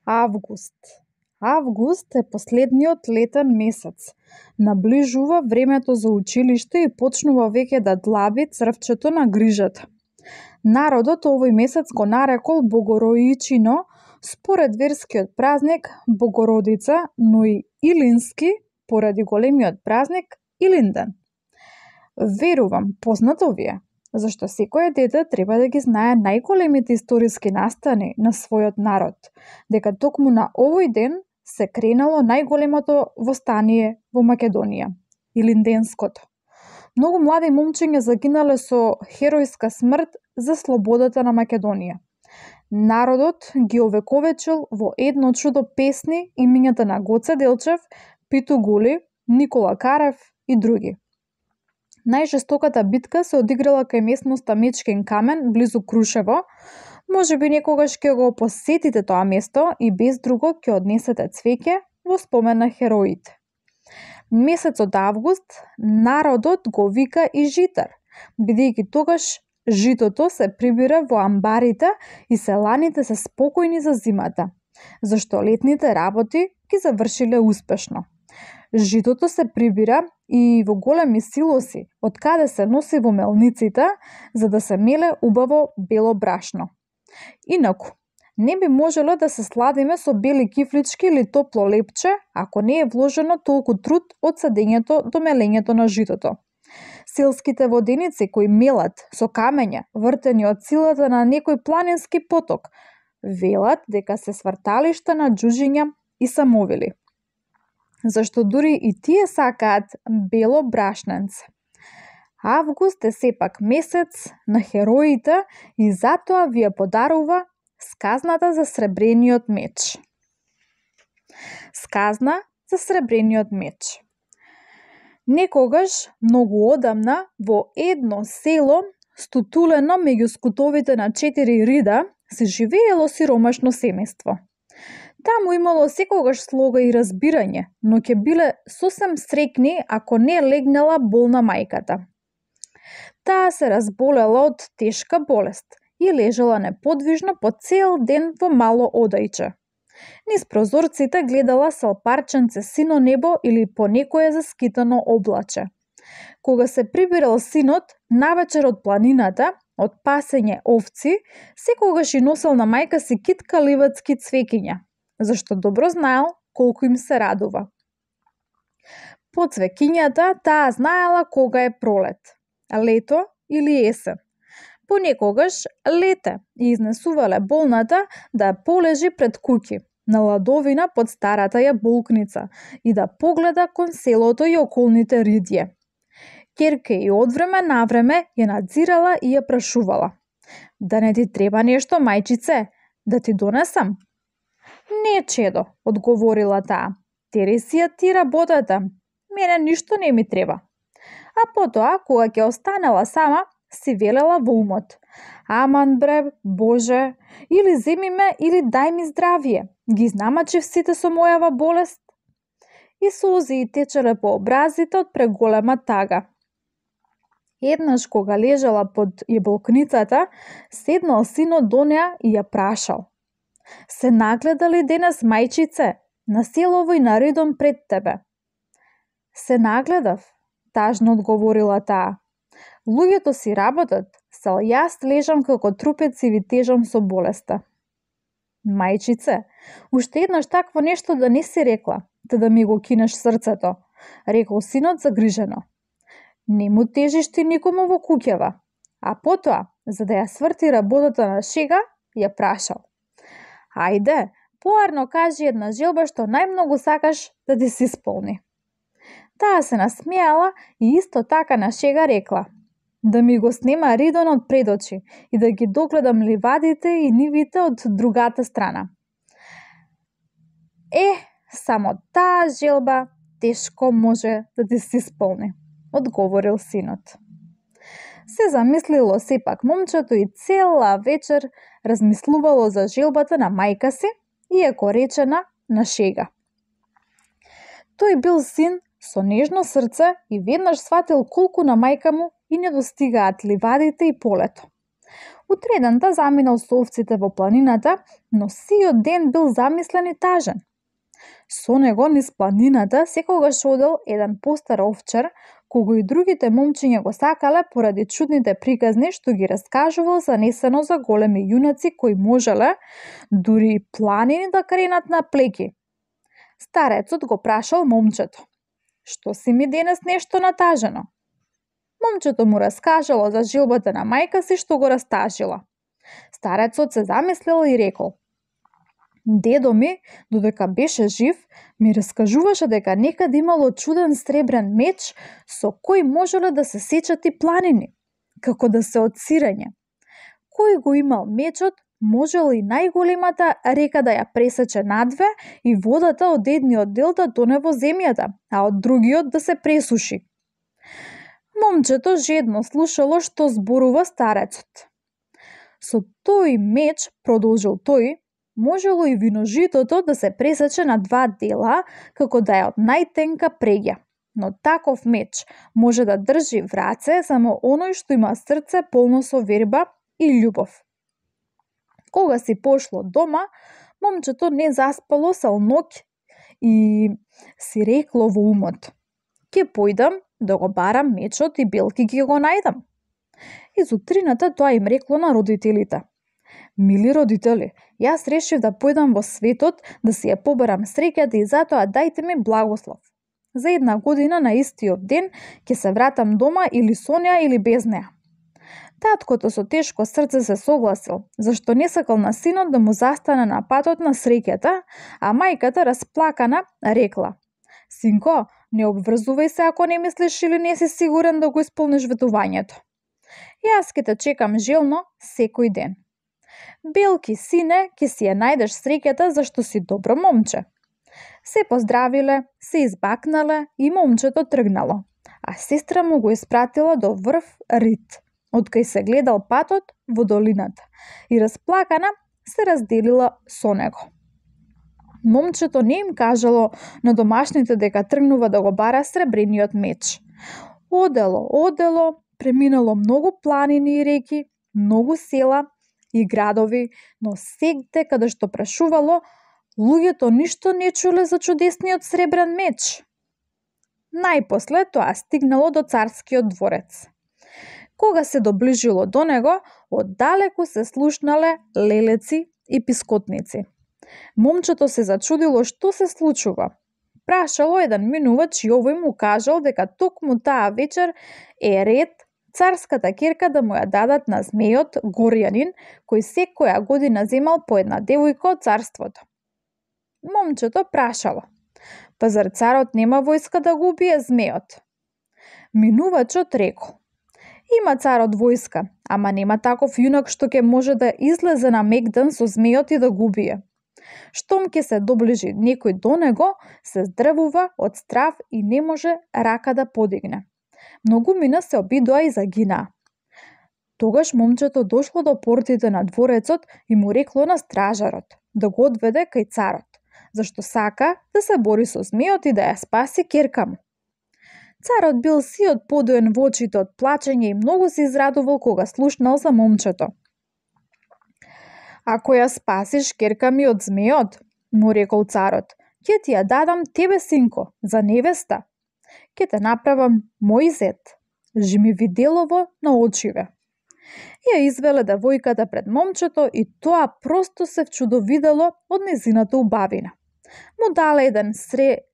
Август. Август е последниот летен месец. Наближува времето за училиште и почнува веќе да длаби црвчето на грижата. Народот овој месец го нарекол Богоројичино според верскиот празник Богородица, но и Илински поради големиот празник Илинден. Верувам, познато ви е, зашто секое дете треба да ги знае најголемите историски настани на својот народ, дека токму на овој ден се кренало најголемото востание во Македонија, Илинденското. Многу млади момчиња загинале со херојска смрт за слободата на Македонија. Народот ги овековечил во едно чудо песни имињата на Гоце Делчев, Питу Гули, Никола Карев и други. Најжестоката битка се одиграла кај местноста Мечкин камен, близу Крушево. Можеби некогаш ќе го посетите тоа место и без друго ќе однесете цвеќе во спомен на хероите. Месецот август народот го вика и житар, бидејќи тогаш житото се прибира во амбарите и селаните се спокојни за зимата, зашто летните работи ги завршиле успешно. Житото се прибира и во големи силоси, од каде се носи во мелниците, за да се меле убаво бело брашно. Инаку, не би можело да се сладиме со бели кифлички или топло лепче, ако не е вложено толку труд од садењето до мелењето на житото. Селските воденици кои мелат со камења, вртени од силата на некој планински поток, велат дека се сврталишта на џуџиња и самовили. Зашто дури и тие сакаат бело брашненце. Август е сепак месец на хероите и затоа ви ја подарува сказната за сребрениот меч. Сказна за сребрениот меч. Некогаш, многу одамна, во едно село, стутулено меѓу скутовите на 4 рида, се живеело сиромашно семејство. Таму имало секогаш слога и разбирање, но ќе биле сосем среќни ако не легнала болна мајката. Таа се разболела од тешка болест и лежала неподвижно по цел ден во мало одајче. Низ прозорците гледала салпарченце сино небо или по некое заскитано облаче. Кога се прибирал синот, навечер од планината, од пасење овци, секогаш и носел на мајка си китка ливацки цвекиња, зашто добро знаел колку им се радува. По цвекињата таа знаела кога е пролет, лето или есен. Понекогаш лете и изнесувале болната да ја полежи пред куќи, на ладовина под старата ја болкница и да погледа кон селото и околните ридје. Ќерке и од време на време ја надзирала и ја прашувала: "Да не ти треба нешто, мајчице? Да ти донесам?" "Не, чедо," одговорила таа. "Тери си ја ти работата. Мене ништо не ми треба." А потоа, кога ќе останела сама, си велела во умот: "Аман бре, Боже, или земи ме, или дај ми здравие. Ги знамачив сите со мојава болест." И солзи течеле по образите од преголема тага. Еднаш кога лежала под јаболкницата, седнал синот до неа и ја прашал: "Се нагледа ли денес, мајчице, на селово и на редом пред тебе?" "Се нагледав," тажно одговорила таа. "Луѓето си работат, сал јас лежам како трупец и ви тежам со болеста." "Мајчице, уште еднаш такво нешто да не си рекла, те да ми го кинеш срцето," рекол синот загрижено. Не му тежиш ти никому во куќава. А потоа, за да ја сврти работата на шега, ја прашал: "Ајде, поарно кажи една желба што најмногу сакаш да ти се исполни." Таа се насмеала и исто така на шега рекла: "Да ми го снема ридонот пред очи и да ги догледам ливадите и нивите од другата страна." Само таа желба тешко може да ти се исполни," одговорил синот. Се замислило сепак момчето и цела вечер размислувало за желбата на мајка си, иако речена на шега. Тој бил син со нежно срце и веднаш сватил колку на мајка му и не достигаат ливадите и полето. Утредента заминал со овците во планината, но сиот ден бил замислен и тажен. Со него низ планината секогаш одел еден постар овчар, кого и другите момчиња го сакале поради чудните приказни што ги раскажувал занесено за големи јунаци кои можеле дури и планини да кренат на плеки. Старецот го прашал момчето: "Што си ми денес нешто натажено?" Момчето му раскажало за жилбата на мајка си што го растажила. Старецот се замислил и рекол: "Дедо ми, додека беше жив, ми раскажуваше дека некаде имало чуден сребрен меч со кој можеле да се сечат и планини, како да се од сирење. Кој го имал мечот, можел и најголемата река да ја пресече надве и водата од едниот дел да тоне во земјата, а од другиот да се пресуши." Момчето жедно слушало што зборува старецот. "Со тој меч," продолжил тој, "можело и виножитото да се пресече на два дела, како да е од најтенка преѓа. Но таков меч може да држи в раце само оној што има срце полно со верба и љубов." Кога си пошло дома, момчето не заспало цел ноќ и си рекло во умот: "Ке појдам да го барам мечот и белки ги го најдам." Из утрината тоа им рекло на родителите: "Мили родители, јас решив да појдам во светот да си ја побарам среќата и затоа дајте ми благослов. За 1 година на истиот ден ќе се вратам дома или со неа или без неа." Таткото со тешко срце се согласил, зашто не сакал на синот да му застане на патот на среќата, а мајката расплакана рекла: "Синко, не обврзувај се ако не мислиш или не си сигурен да го исполниш ветувањето. Јас ќе те чекам желно секој ден. Белки, сине, ќе си ја најдеш среќата зашто си добро момче." Се поздравиле, се избакнале и момчето тргнало, а сестра му го испратила до врв Рид, откај се гледал патот во долината и расплакана се разделила со него. Момчето не им кажало на домашните дека тргнува да го бара сребрениот меч. Одело, преминало многу планини и реки, многу села и градови, но сегде каде што прашувало, луѓето ништо не чуле за чудесниот сребрен меч. Најпосле тоа стигнало до царскиот дворец. Кога се доближило до него, оддалеку се слушнале лелеци и пискотници. Момчето се зачудило што се случува. Прашало еден минувач и овој му кажал дека токму таа вечер е ред царската ќерка да му ја дадат на змејот Горјанин, кој секоја година земал по една девојка од царството. Момчето прашало: "Па зар царот нема војска да го убие змејот?" Минувачот рекол: "Има царот војска, ама нема таков јунак што ќе може да излезе на мегдан со змејот и да го убие. Штом ќе се доближи некој до него, се здрвува од страв и не може рака да подигне. Многумина се обидоа и загинаа." Тогаш момчето дошло до портите на дворецот и му рекло на стражарот да го одведе кај царот, зашто сака да се бори со змејот и да ја спаси ќерка му. Царот бил сиот подоен во очите од плачење и многу се израдувал кога слушнал за момчето. "Ако ја спасиш ќерка ми од змејот," му рекол царот, "ќе ти ја дадам тебе, синко, за невеста. Ќе те направам мој зет. Жми виделово на очиве." Ја извеле девојката пред момчето и тоа просто се вчудовидело од незината убавина. Му дале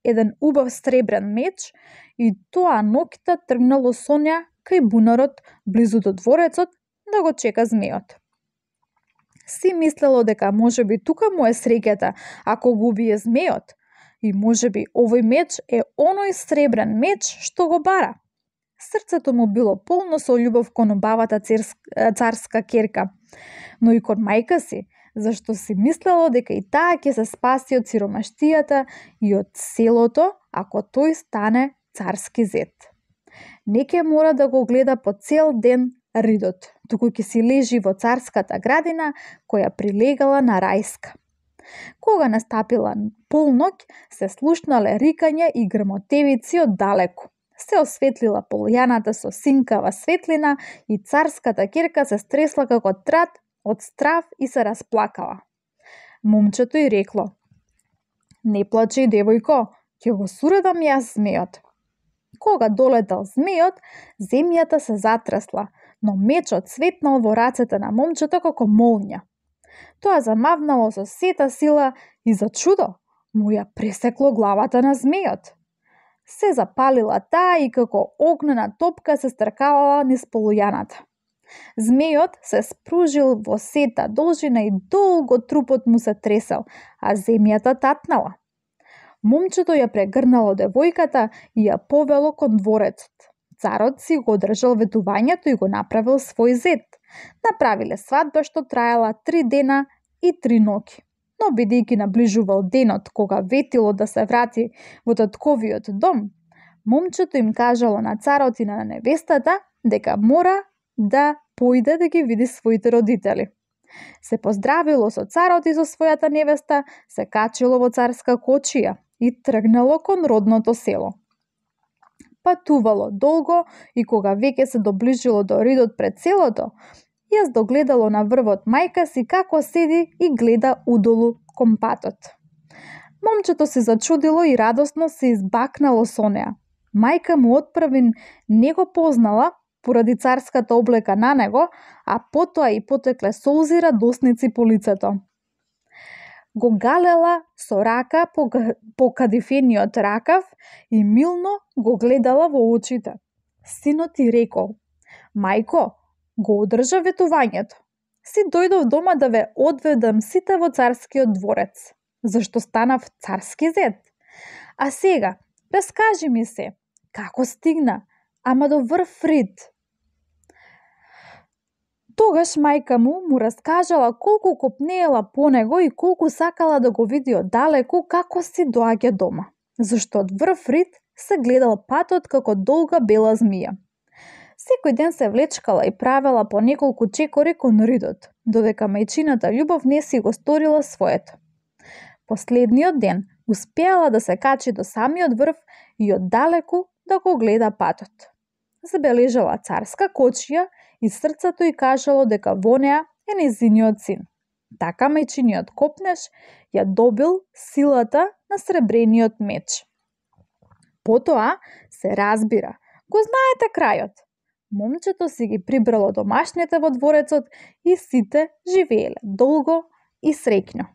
еден убав сребрен меч и тоа ноќта тргнало со неа кај бунарот близу до дворецот да го чека змејот. Си мислело дека можеби тука му е среќата ако го убие змејот и можеби овој меч е оној сребрен меч што го бара. Срцето му било полно со љубов кон убавата царска ќерка, но и кон мајка си, зашто си мислело дека и таа ќе се спаси од сиромаштијата и од селото ако тој стане царски зет. Не ќе мора да го гледа по цел ден Ридот, туку ќе си лежи во царската градина која прилегала на рајска. Кога настапила полноќ, се слушнале рикање и грмотевици од далеку. се осветлила полјаната со синкава светлина и царската ќерка се стресла како трат од страв и се расплакала. Момчето ѝ рекло: "Не плачеј, девојко, ќе го суредам јас змејот." Кога долетал змејот, земјата се затресла, но мечот светнал во рацете на момчето како молња. Тоа замавнало со сета сила и за чудо му ја пресекло главата на змејот. Се запалила таа и како огнена топка се стркалала низ полујаната. Змејот се спружил во сета должина и долго трупот му се тресел, а земјата татнала. Момчето ја прегрнало девојката и ја повело кон дворецот. Царот си го одржал ветувањето и го направил свој зет. Направиле свадба што траела 3 дена и 3 ноќи. Но бидејќи наближувал денот кога ветило да се врати во татковиот дом, момчето им кажало на царот и на невестата дека мора да појде да ги види своите родители. Се поздравило со царот и со својата невеста, се качило во царска кочија и тргнало кон родното село. Патувало долго и кога веќе се доближило до ридот пред селото, јас догледало на врвот мајка си како седи и гледа удолу кон патот. Момчето се зачудило и радосно се избакнало со неа. Мајка му отпрви не го познала поради царската облека на него, а потоа и потекле солзи радосници по лицето. Го галела со рака по кадифениот ракав и милно го гледала во очите. Синот ти рекол: "Мајко, го одржа ветувањето. Си дојдов дома да ве одведам сите во царскиот дворец, зашто станав царски зет. А сега, раскажи ми се, како стигна, ама до врв рид?" Тогаш мајка му раскажала колку копнеела по него и колку сакала да го види оддалеку како си доаѓа дома, зашто од врв рид се гледал патот како долга бела змија. Секој ден се влечкала и правела по неколку чекори кон ридот, додека мајчината љубов не си го сторила своето. Последниот ден успеала да се качи до самиот врв и оддалеку да го гледа патот. Забележала царска кочија и срцето ѝ кажало дека во неа е нејзиниот син. Така мајчиниот копнеш ја добил силата на сребрениот меч. Потоа се разбира, го знаете крајот. Момчето си ги прибрало домашните во дворецот и сите живееле долго и среќно.